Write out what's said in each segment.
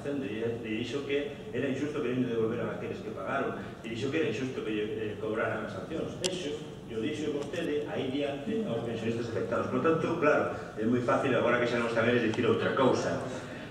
Facenda e dixo que era injusto que non devolveran aqueles que pagaron, e dixo que era injusto que cobraran as sancións. Eso, eu dixo vostede aí diante aos pensionistas afectados. Por tanto, claro, é moi fácil agora que xa non están eles dicir outra cousa.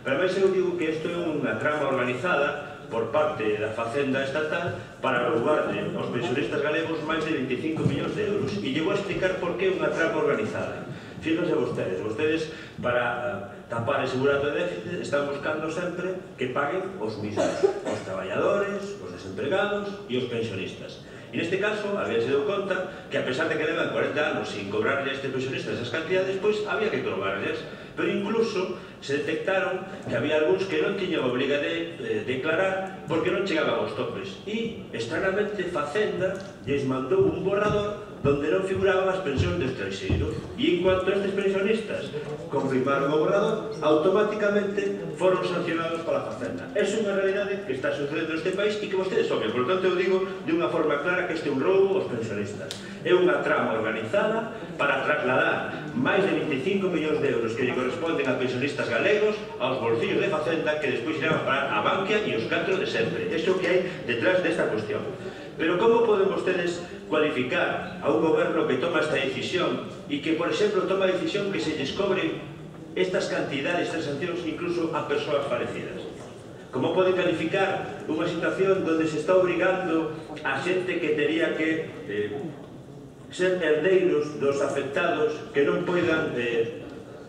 Pero máis eu digo que isto é unha trama organizada por parte da Facenda estatal para roubarle aos pensionistas galegos máis de 25 millóns de euros. E lle vou explicar por que é unha trama organizada. Fíjense vostedes, para tapar ese burato de déficit, están buscando sempre que paguen os mismos, os traballadores, os desempregados e os pensionistas. E neste caso, había se deu conta que a pesar de que levan 40 anos sin cobrarle a estes pensionistas esas cantidades, pois había que cobrarles. Pero incluso se detectaron que había algúns que non tiñan obriga de declarar porque non chegaban aos topes. E, estranamente, Facenda lles mandou un borrador donde non figuraban as pensións de estranxeiro. E en cuanto a estes pensionistas confirmaron o borrador, automáticamente foron sancionados pola Facenda. É unha realidade que está sucedendo neste país e que vostedes soben. Por lo tanto, eu digo de unha forma clara que este é un roubo aos pensionistas. É unha trama organizada para trasladar máis de 25 millóns de euros que lle corresponden a pensionistas galegos aos bolsillos de Facenda, que despois irán a parar a Bankia e os catro de sempre. Iso que hai detrás desta cuestión. Pero como poden vostedes cualificar a un goberno que toma esta decisión e que, por exemplo, toma a decisión que se lles cobre estas cantidades, estas sancións, incluso a persoas fallecidas? Como poden calificar unha situación onde se está obrigando a xente que tería que ser herdeiros dos afectados que non poidan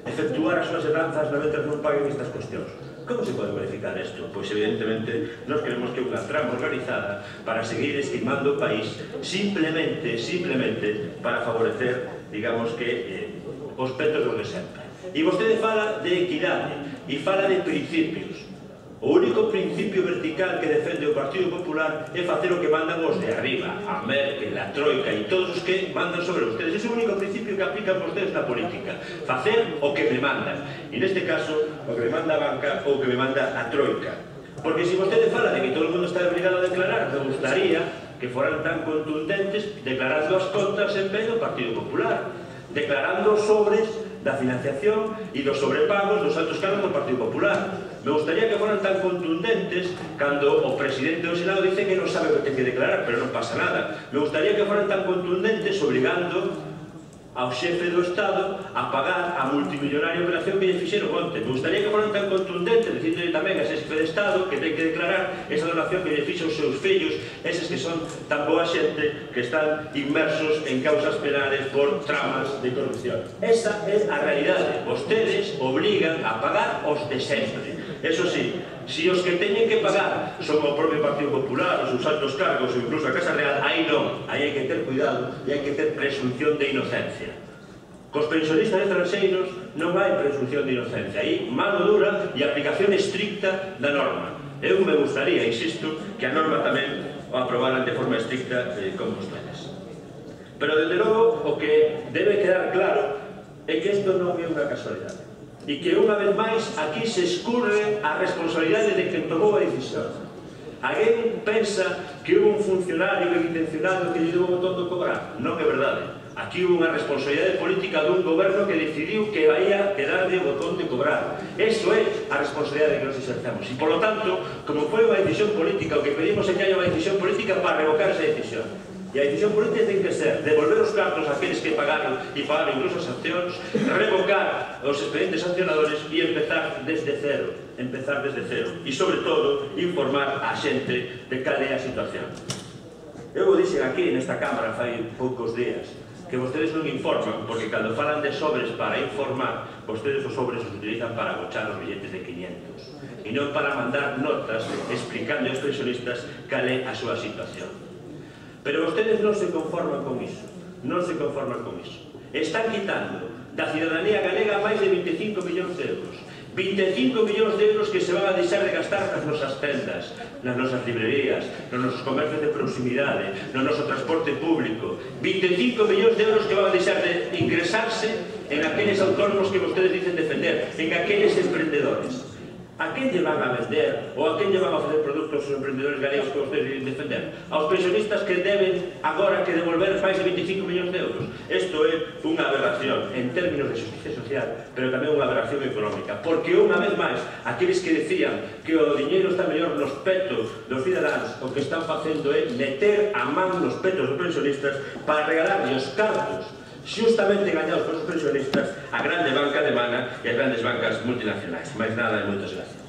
efectuar as súas heranzas mentre non paguen estas cuestións? Como se pode verificar isto? Pois evidentemente nós queremos que unha trama organizada para seguir estimando o país simplemente para favorecer, digamos que, os petos dos de sempre. E vostede fala de equidade e fala de principios. O único principio vertical que defende o Partido Popular é facer o que mandan os de arriba, a Merkel, a Troika e todos os que mandan sobre vostedes. Ese é o único principio que aplican vostedes na política. Facer o que me mandan. E neste caso, o que me manda a banca ou o que me manda a Troika. Porque se vostede fala de que todo o mundo está obligado a declarar, me gustaría que foran tan contundentes declarando as contas en vez do Partido Popular, declarando os sobres da financiación e dos sobrepagos dos altos cargos do Partido Popular. Me gustaría que foran tan contundentes cando o presidente do Senado dice que non sabe o que ten que declarar, pero non pasa nada. Me gustaría que foran tan contundentes obligando ao xefe do Estado a pagar a multimillonaria operación que lle fixeron onte. Me gustaría que foran tan contundentes dicindo tamén a ese xefe de Estado que ten que declarar esa donación que lle fixo os seus fillos, eses que son tan boa xente que están inmersos en causas penales por tramas de corrupción. Esa é a realidade. Vostedes obligan a pagar os de sempre. Eso sí, si os que teñen que pagar son o propio Partido Popular, os seus altos cargos ou incluso a Casa Real, aí non, aí hai que ter cuidado e hai que ter presunción de inocencia. Cos pensionistas estranxeiros non hai presunción de inocencia, aí mano dura e aplicación estricta da norma. Eu me gustaría, insisto, que a norma tamén o aprobaran de forma estricta con vostedes. Pero, desde logo, o que debe quedar claro é que isto non é unha casualidade. E que unha vez máis aquí se escurre a responsabilidade de quen tomou a decisión. Alguén pensa que houve un funcionario intencionado que lle deu o botón de cobrar? Non é verdade. Aquí houve unha responsabilidade política dun goberno que decidiu que ia quedarle o botón de cobrar. Eso é a responsabilidade que nos exercemos. E, por lo tanto, como foi unha decisión política, o que pedimos é que haya unha decisión política para revocar esa decisión. E a decisión política ten que ser devolver os cartos àqueles que pagaron e pagaron incluso as sancións, revocar os expedientes sancionadores e empezar desde cero. E, sobre todo, informar a xente de cal é a situación. Eu o dixen aquí nesta Cámara fai poucos días que vostedes non informan, porque cando falan de sobres para informar, vostedes os sobres os utilizan para agochar os billetes de 500 e non para mandar notas explicando aos pensionistas cal é a súa situación. Pero vostedes non se conforman con iso, Están quitando da cidadanía galega máis de 25 millóns de euros. 25 millóns de euros que se van a deixar de gastar nas nosas tendas, nas nosas librerías, nos nosos comercios de proximidade, no noso transporte público. 25 millóns de euros que van a deixar de ingresarse en aqueles autónomos que vostedes dicen defender, en aqueles emprendedores. A quen lle van a vender ou a quen lle van a ofrecer produtos aos emprendedores galegos que vostedes deben defender? Aos pensionistas que deben agora que devolver máis de 25 millóns de euros. Isto é unha aberración en términos de justicia social, pero tamén unha aberración económica, porque unha vez máis, aqueles que decían que o diñeiro está mellor nos petos dos cidadáns, o que están facendo é meter a man nos petos dos pensionistas para regalarlle os cartos xustamente engañados por os pensionistas a grande banca alemana e as grandes bancas multinacionais. Mais nada e moitas gracias.